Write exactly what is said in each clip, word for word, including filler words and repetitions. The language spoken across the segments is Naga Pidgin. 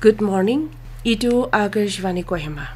Good morning. Itu Akashvani Kohima.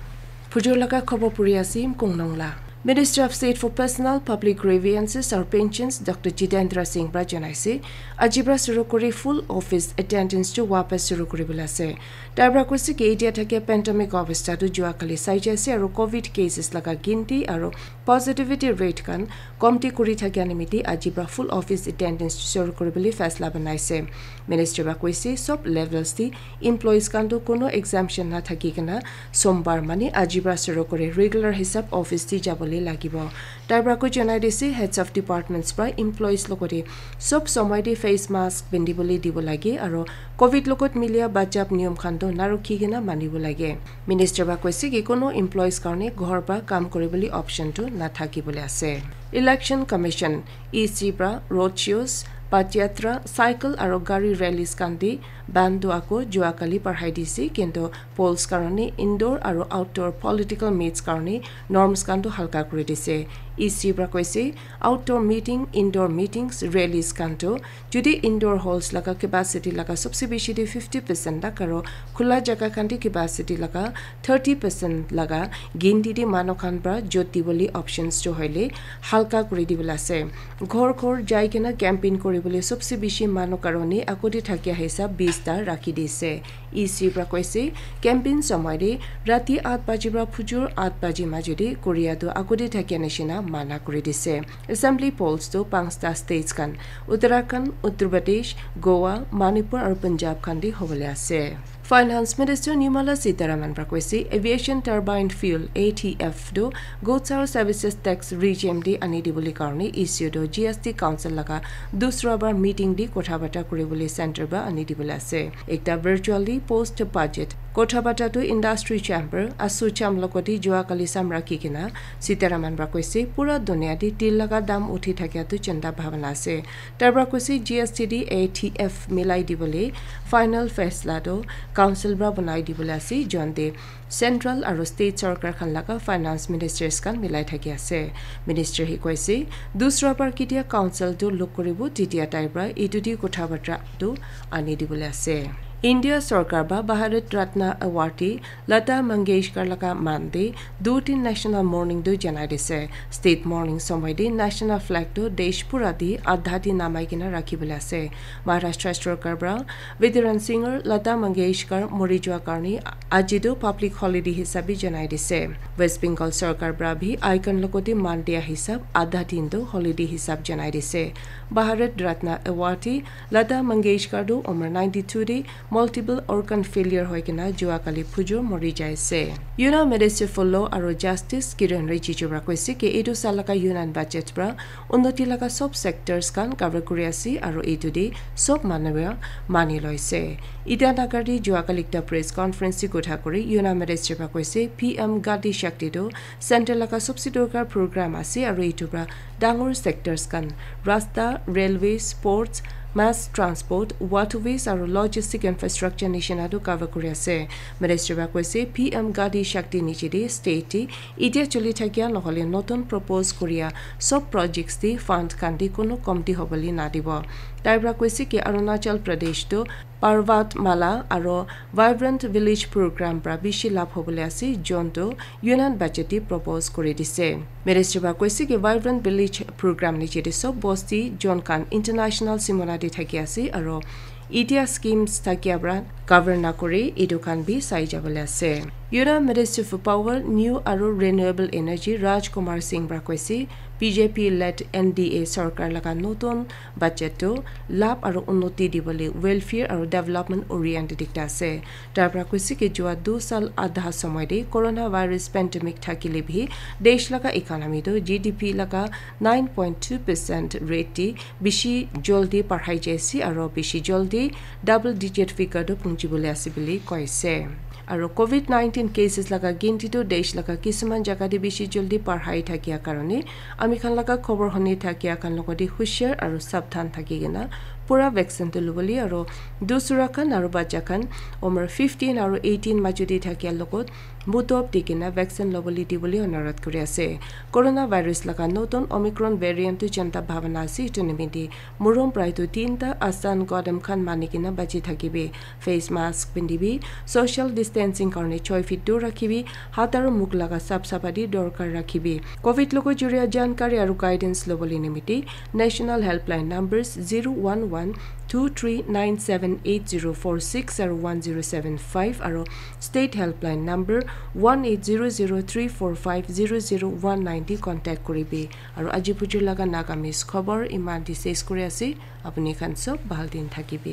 Phujur laga khobor puri asim Kungnong la. Minister of State for Personnel, Public Grievances or Pensions, Doctor Jitendra Singh pra janaise, ajibra suru kuri full office attendance tu wapas suru kuri bola ase. Tai pra koise ki etia thakia pandemic obostha tu jua kali sai jai ase aru covid cases laga ginti aru positivity rate khan komti kuri thakia nimiti ajibra full office attendance tu suru kuri bole faisla banaise. Minister pra koise sob levels ti employees khan tu kono exemption na thaki kena sombar mane ajibra suru kuri regular hisab office ti jabole lagibo. Tai pra ko janai dise heads of departments pra employees logote sob somoi te face mask pindi bole dibo lage aru covid logot milia bachap niyom khan to narukhi kena manibo lage. Minister pra koise ki kono employees karne ghor pra kam kuri bole option to na thaki bole ase. Election Commission, E C pra road shows, padyatra, cycle aru gari rallies khan di ban tu ako jua kali parhai dise kintu polls karone indoor aru outdoor political meets karone norms khan tu halka kuri dise. E C pra koise outdoor meeting, indoor meetings, rallies khan tu jodi indoor halls laga capacity laga sobse bishi de fifty percent tak aru khula jaga khan de capacity laga thirty percent laga ginti de manu khan pra jot dibole options tu hoile halka kuri dibole ase. Ghor ghor jai kena campaign kuri bole sobse bishi manu karone ako de thakia hisab bis ta rakhi dise. E C pra koise campaign somoi de rati at baji pra phujur at baji majo de koria tu ako de thakia nishina mana kuri dise. Assembly polls tu panchta states khan, Uttarakhand, Uttar Pradesh, Goa, Manipur aru Punjab khan di hobole ase. Finance Minister Nirmala Sitharaman pra koise aviation turbine fuel A T F tu goods aru services tax regime di ani dibole karone E C tu G S T Council laga dusra bar meeting di kotha bata kuri bole center pra ani dibole ase. Ekta virtually post budget kotha bata tu industry chamber, ASSOCHAM logote jua kali sam rakhi kena Sitharaman pra koise pura dunia te til laga dam uthi thakia tu chinta bhabana ase. Tai pra koise G S T de A T F milai dibole final faisla tu council pra banai dibole ase, jonte central aru state sarkar khan laga finance ministers khan milai thaki ase. Minister hi koise dusra bar ketia council tu lok kuribo tetia tai pra etu de kotha batra tu ani dibole ase. India sarkar ba Bharat Ratna awardee Lata Mangeshkar laga man de du tin national mourning tu janai dise. State mourning somoi de national flag tu desh pura de adha din namai kena rakhi bole ase. Maharashtra sarkar pra Veteran singer Lata Mangeshkar mori jua karne aji tu public holiday hisabe janai dise. West Bengal sarkar pra bhi icon logote man dia hisab adha din tu holiday hisab janai dise. Bharat Ratna awardee Lata Mangeshkar tu umar ninety two de multiple organ failure hoi kena jua kali phujur mori jai ase. Union Minister for Law aru Justice Kiren Rijiju pra koise ki etu sal laga Union budget pra unnoti laga sob sectors khan cover kuri ase aru etu de sob manu pra mani loise. Itanagar de jua kali ekta press conference de kotha kuri Union Minister pra koise P M Gati Shakti tu center laga sobse dorkar program ase aru etu pra dangor sectors khan rasta, railways, ports, mass transport, waterways aru logistic infrastructure nishina tu cover kuri ase. Minister pra koise P M Gati Shakti niche de state de etia choli thakia nohole notun propose kuria sob projects de fund khan de kono komti hobole na dibo. Tai pra koise ki Arunachal Pradesh tu Parvat Mala aru Vibrant Village Program pra bishi labh hobole ase, jontu Union budget te propose kuri dise. Minister pra koise ki Vibrant Village Program niche te sob bosti jon khan international simona te thaki ase aru etia schemes thakia pra cover na kuri etu khan bi sai jabole ase. Union Minister for Power, New aru Renewable Energy Raj Kumar Singh pra koise B J P led N D A sarkar laga notun budget tu labh aru unnoti dibole welfare aru development oriented ekta ase. Tai pra koise ki jua du sal adha somoi de coronavirus pandemic thakile bhi desh laga economy tu G D P laga nine point two percent rate de bishi joldi parhai jai ase aru bishi joldi double digit figure tu punchi bole ase bole koise. Aru covid nineteen cases laga ginti tu desh laga kisuman jaga de bishi joldi parhai thakia karone ami khan laga khobor huni thakia khan logote hushiar aru sabdhan thaki kena Pura vaccine tu lobole aro dusra khan aro bacha khan umar fifteen aro eighteen majudi thakia logot mutop di kena vaccine lobole dibole onurodh kuri ase. Coronavirus laga notun Omicron variant tu janta bhabana ase, etu nimite murom prai tu tinta asan godam khan mani kena bachi thakibi. Face mask pindibi, social distancing karne choi feet dur rakhibi, hat aro mukh laga sap sapati dorkar rakhibi. Covid logo juria jankari aro guidance lobole nimite National Helpline numbers zero one one two three nine seven eight zero four six aro one zero seven five aro State Helpline number one eight zero zero three four five zero zero one nine di contact kuribi. Aro aji bujur laga Nagamese khobor iman di ses kuri ase. Apuni khan sob bhal din thakibi.